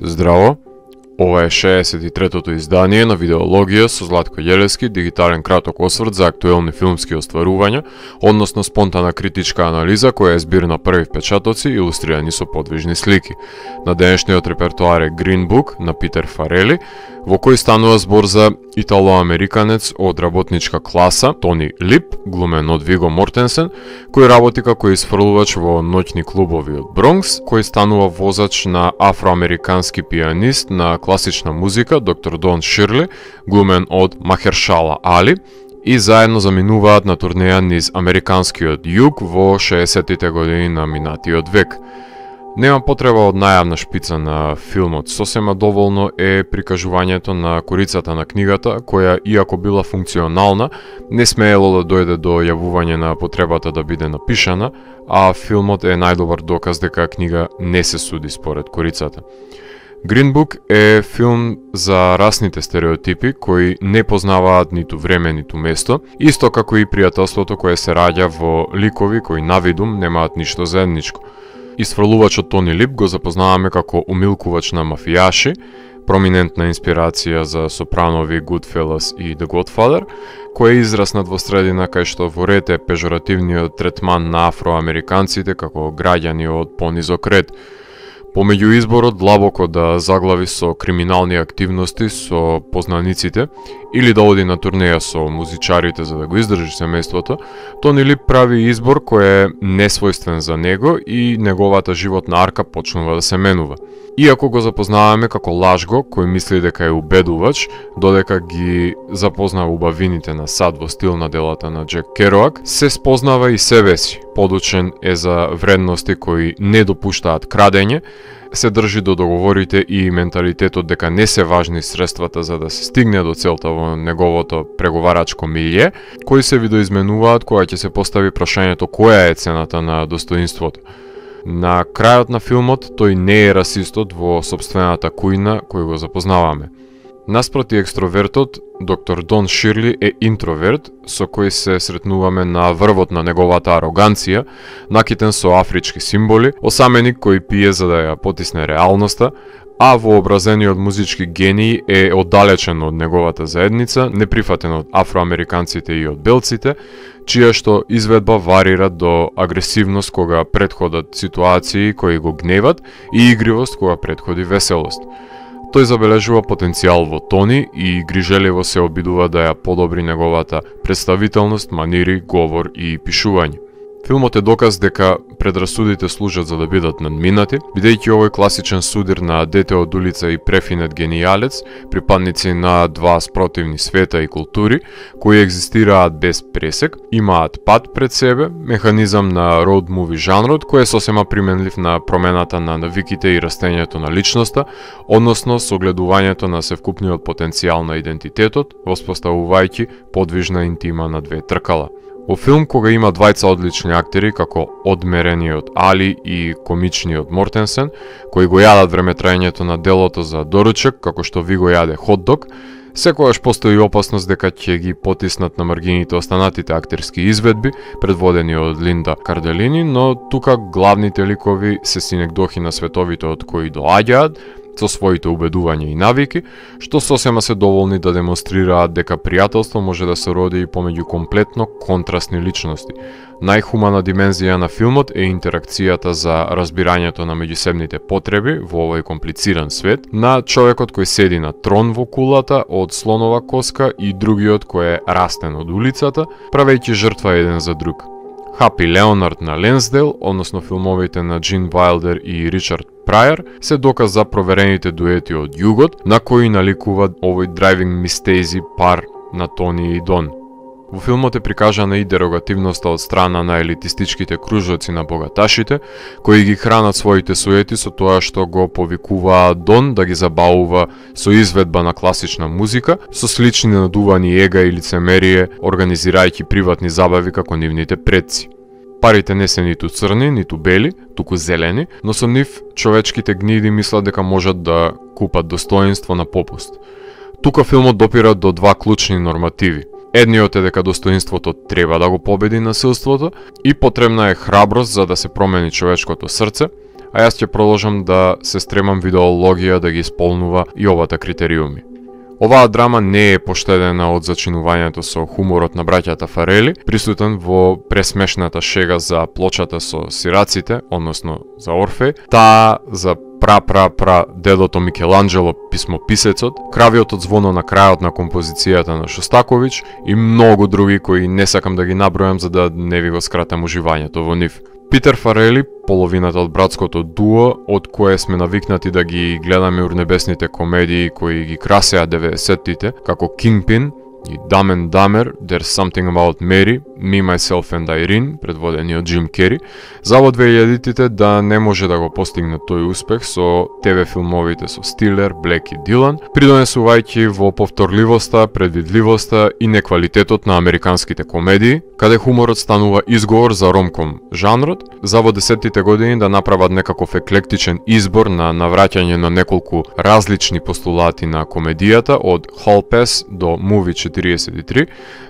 Здраво, ова е 63-тото издание на Видеологија со Златко Јелевски, дигитален краток осврт за актуелни филмски остварувања, односно спонтана критичка анализа која е збир на први впечатоци илустрирани со подвижни слики. На денешниот репертоар е Green Book на Питер Фарели, во кој станува збор за итало-американец од работничка класа, Тони Лип, глумен од Виго Мортенсен, кој работи како исфрлувач во ноќни клубови од Бронкс, кој станува возач на афроамерикански пианист на класична музика, доктор Дон Ширли, глумен од Махершала Али, и заедно заминуваат на турнеја низ американскиот југ во 60-тите години на минатиот век. Нема потреба од најавна шпица на филмот, сосема доволно е прикажувањето на корицата на книгата, која, иако била функционална, не смеело да дојде до јавување на потребата да биде напишана, а филмот е најдобар доказ дека книга не се суди според корицата. Green Book е филм за расните стереотипи кои не познаваат ниту време, ниту место, исто како и пријателството кое се раѓа во ликови кои навидум немаат ништо заедничко. Исфрлувачот Тони Лип го запознаваме како умилкувач на мафијаши, проминентна инспирација за Сопранови, Goodfellas и The Godfather, кој е израснат во средина кај што ворете пежоративниот третман на афроамериканците како граѓани од понизок ред. Помеѓу изборот длабоко да заглави со криминални активности со познаниците или да оди на турнеја со музичарите за да го издржи семејството, Тони Лип прави избор кој е несвојствен за него и неговата животна арка почнува да се менува. Иако го запознаваме како лажго кој мисли дека е убедувач, додека ги запознава убавините на сад во стил на делата на Джек Кероак, се спознава и себе си. Подучен е за вредности кои не допуштаат крадење, се држи до договорите и менталитетот дека не се важни средствата за да се стигне до целта во неговото преговарачко милје, кои се видоизменуваат кога ќе се постави прашањето која е цената на достоинството. На крајот на филмот тој не е расистот во сопствената кујна кој го запознаваме. Наспроти екстровертот, доктор Дон Ширли е интроверт, со кој се сретнуваме на врвот на неговата ароганција, накитен со афрички символи, осаменик кој пие за да ја потисне реалноста, а вообразениот музички гений е оддалечен од неговата заедница, неприфатен од афроамериканците и од белците, чија што изведба варира до агресивност кога претходат ситуации кои го гневат и игривост кога претходи веселост. Тој забележува потенцијал во Тони и грижеливо се обидува да ја подобри неговата представителност, манири, говор и пишување. Филмот е доказ дека предрасудите служат за да бидат надминати, бидејќи овој класичен судир на дете од улица и префинет генијалец, припадници на два спротивни света и култури, кои екзистираат без пресек, имаат пат пред себе, механизам на роуд муви жанрот, кој е сосема применлив на промената на навиките и растењето на личноста, односно согледувањето на севкупниот потенцијал на идентитетот, воспоставувајќи подвижна интима на две тркала. Во филм кога има двајца одлични актери како одмерениот Али и комичниот Мортенсен, кои го јадат времетраењето на делото за доручек како што ви го јаде хотдог, секогаш постои опасност дека ќе ги потиснат на маргините останатите актерски изведби, предводени од Линда Карделини, но тука главните ликови се синекдохи на световите од кои доаѓаат, со своите убедувања и навики, што сосема се доволни да демонстрираат дека пријателство може да се роди и помеѓу комплетно контрастни личности. Најхумана димензија на филмот е интеракцијата за разбирањето на меѓусебните потреби во овој комплициран свет, на човекот кој седи на трон во кулата од слонова коска и другиот кој е растен од улицата, правејќи жртва еден за друг. Хапи Леонард на Ленсдейл, односно филмовите на Джин Вайлдер и Ричард Прајер, се доказ за проверените дуети од југот, на кои наликува овој драйвинг мистези пар на Тони и Дон. Во филмот е прикажана и дерогативноста од страна на елитистичките кружоци на богаташите, кои ги хранат своите суети со тоа што го повикуваат Дон да ги забавува со изведба на класична музика, со слични надувани ега и лицемерие, организирајќи приватни забави како нивните предци. Парите не се ниту црни, ниту бели, туку зелени, но со нив човечките гниди мислат дека можат да купат достоинство на попуст. Тука филмот допира до два клучни нормативи. Едниот е дека достоинството треба да го победи насилството и потребна е храброст за да се промени човечкото срце, а јас ќе продолжам да се стремам видеологија да ги исполнува и овата критериуми. Оваа драма не е поштедена од зачинувањето со хуморот на браќата Фарели, присутен во пресмешната шега за плочата со сираците, односно за Орфеј, таа за дедото Микеланджело, писмописецот, кравиото звоно на крајот на композицијата на Шостаковиќ и многу други кои не сакам да ги набројам за да не ви го скратам уживањето во нив. Питер Фарели, половината од братското дуо, од кое сме навикнати да ги гледаме урнебесните комедии кои ги красеа 90-тите, како Kingpin и Dumb and Dumber, There's Something About Mary, Me, Myself and Irene, предводени од Джим Кери, за во 2000-тите да не може да го постигне тој успех со ТВ филмовите со Стилер, Блек и Дилан, придонесувајќи во повторливоста, предвидливоста и неквалитетот на американските комедии, каде хуморот станува изговор за ромком жанрот, за во 10-тите години да направат некаков еклектичен избор на навраќање на неколку различни постулати на комедијата, од Hall Pass до Movie 43,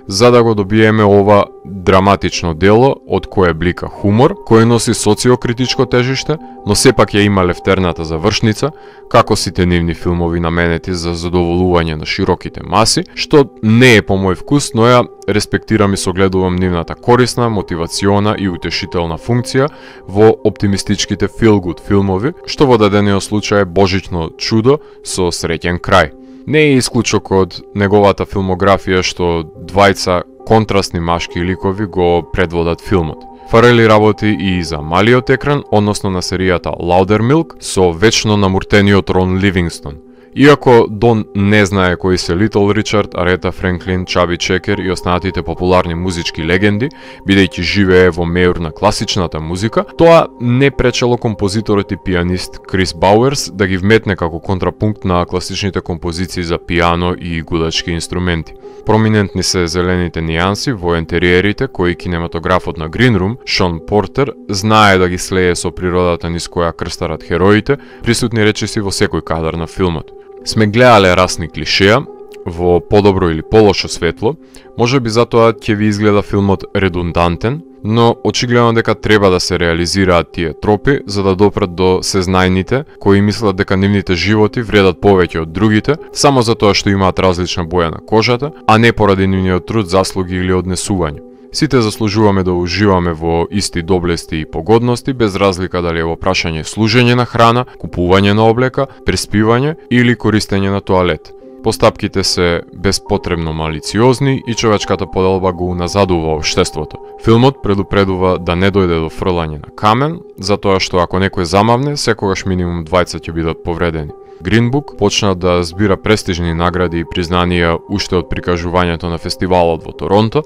за да го добиеме ова драматично дело од кое блика хумор, кој носи социокритичко тежиште, но сепак ја има лефтерната завршница, како сите нивни филмови наменети за задоволување на широките маси, што не е по мој вкус, но ја респектирам и согледувам нивната корисна, мотивациона и утешителна функција во оптимистичките feel-good филмови, што во дадениот случај е Божично чудо со среќен крај. Не е исклучок од неговата филмографија што двајца контрастни машки ликови го предводат филмот. Фарели работи и за малиот екран, односно на серијата Loudermilk со вечно намуртениот Рон Ливингстон. Иако Дон не знае кои се Литл Ричард, Арета Френклин, Чаби Чекер и останатите популарни музички легенди, бидејќи живее во меур на класичната музика, тоа не пречело композиторот и пианист Крис Бауерс да ги вметне како контрапункт на класичните композиции за пиано и гудачки инструменти. Проминентни се зелените нијанси во ентериерите кои кинематографот на Green Room, Шон Портер, знае да ги слее со природата низ која крстарат хероите, присутни речиси во секој кадар на филмот. Сме гледале расни клишеа во подобро или полошо светло, може би затоа ќе ви изгледа филмот редундантен, но очигледно дека треба да се реализираат тие тропи за да допрат до сезнајните кои мислат дека нивните животи вредат повеќе од другите, само затоа што имаат различна боја на кожата, а не поради нивниот труд, заслуги или однесување. Сите заслужуваме да уживаме во исти доблести и погодности, без разлика дали е во прашање служење на храна, купување на облека, преспивање или користење на тоалет. Постапките се безпотребно малициозни и човечката поделба го уназадува општеството. Филмот предупредува да не дојде до фрлање на камен, затоа што ако некој замавне, секогаш минимум двајца ќе бидат повредени. Green Book почна да збира престижни награди и признанија уште од прикажувањето на фестивалот во Торонто,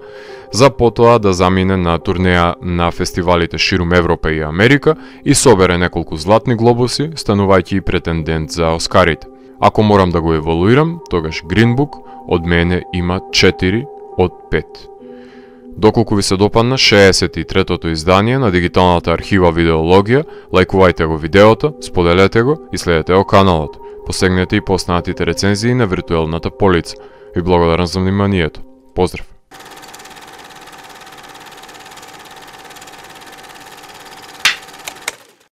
за потоа да замине на турнеја на фестивалите ширум Европа и Америка и собере неколку златни глобуси, станувајќи и претендент за Оскарите. Ако морам да го евалуирам, тогаш Green Book од мене има 4 од 5. Доколку ви се допадна 63-тото издание на дигиталната архива Видеологија, лајкувајте го видеото, споделете го и следете го каналот. Посегнете и по останатите рецензии на виртуелната полица. Ви благодарам за вниманието. Поздрав!